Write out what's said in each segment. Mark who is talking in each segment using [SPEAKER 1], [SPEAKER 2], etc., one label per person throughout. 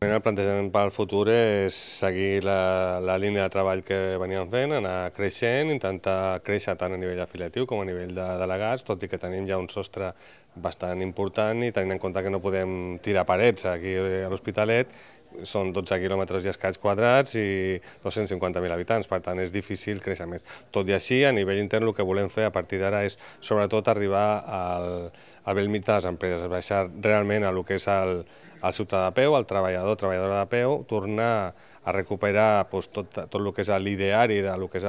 [SPEAKER 1] El plantejament pel futur és seguir la línia de treball que veníem fent, anar creixent, intentar créixer tant a nivell afiliatiu com a nivell de delegats, tot i que tenim ja un sostre bastant important i tenint en compte que no podem tirar parets aquí a l'Hospitalet, són 12 quilòmetres i escaig quadrats i 250.000 habitants, per tant és difícil créixer més. Tot i així, a nivell intern el que volem fer a partir d'ara és sobretot arribar al bell mig de les empreses, baixar realment a lo que és el ciutadà de peu, el treballador, treballadora de peu, tornar a recuperar tot el que és l'ideari del que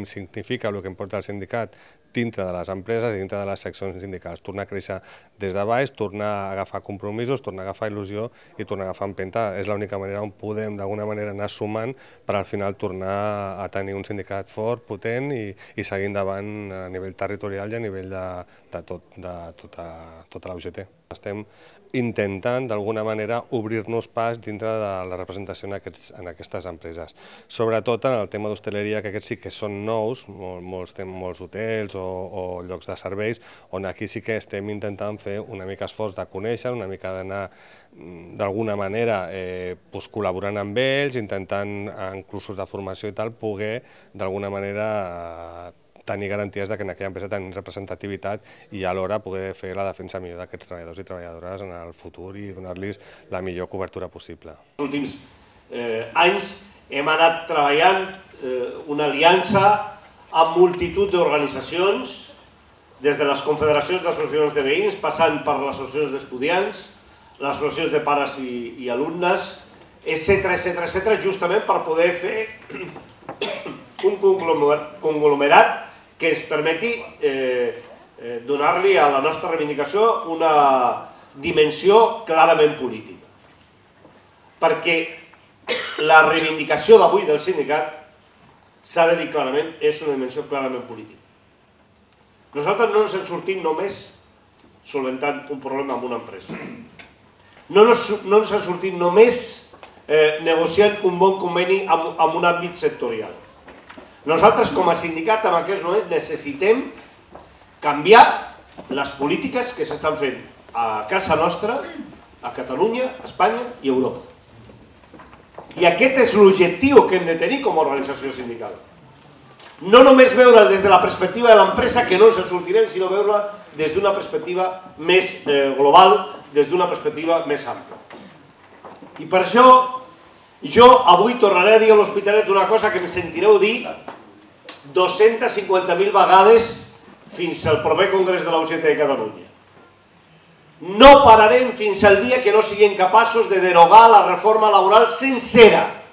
[SPEAKER 1] significa, el que importa el sindicat dintre de les empreses i dintre de les seccions sindicals, tornar a créixer des de baix, tornar a agafar compromisos, tornar a agafar il·lusió i tornar a agafar empenta. És l'única manera on podem d'alguna manera anar sumant per al final tornar a tenir un sindicat fort, potent i seguir endavant a nivell territorial i a nivell de tota la UGT. Estem intentant d'alguna manera obrir-nos pas dintre de la representació en aquestes empreses. Sobretot en el tema d'hostaleria, que aquests sí que són nous, molts hotels o llocs de serveis, on aquí sí que estem intentant fer una mica esforç de conèixer, una mica d'anar d'alguna manera col·laborant amb ells, intentant en cursos de formació i tal, poder d'alguna manera tenir garanties que en aquella empresa tenim representativitat i alhora poder fer la defensa millor d'aquests treballadors i treballadores en el futur i donar-los la millor cobertura possible.
[SPEAKER 2] Els últims anys hem anat treballant una aliança amb multitud d'organitzacions, des de les confederacions d'associacions de veïns, passant per les associacions d'estudiants, les associacions de pares i alumnes, etc., justament per poder fer un conglomerat que ens permeti donar-li a la nostra reivindicació una dimensió clarament política. Perquè la reivindicació d'avui del sindicat, s'ha de dir clarament, és una dimensió clarament política. Nosaltres no ens en sortim només solventant un problema amb una empresa. No ens en sortim només negociant un bon conveni amb un àmbit sectorial. Nosaltres, com a sindicat, en aquest moment necessitem canviar les polítiques que s'estan fent a casa nostra, a Catalunya, a Espanya i a Europa. I aquest és l'objectiu que hem de tenir com a organització sindical. No només veure'l des de la perspectiva de l'empresa, que no ens en sortirem, sinó veure-la des d'una perspectiva més global, des d'una perspectiva més ampla. I per això, jo avui tornaré a dir a l'Hospitalet una cosa que em sentireu dir 250.000 vegades fins al proper Congrés de la UGT de Catalunya. No pararem fins al dia que no siguem capaços de derogar la reforma laboral sencera,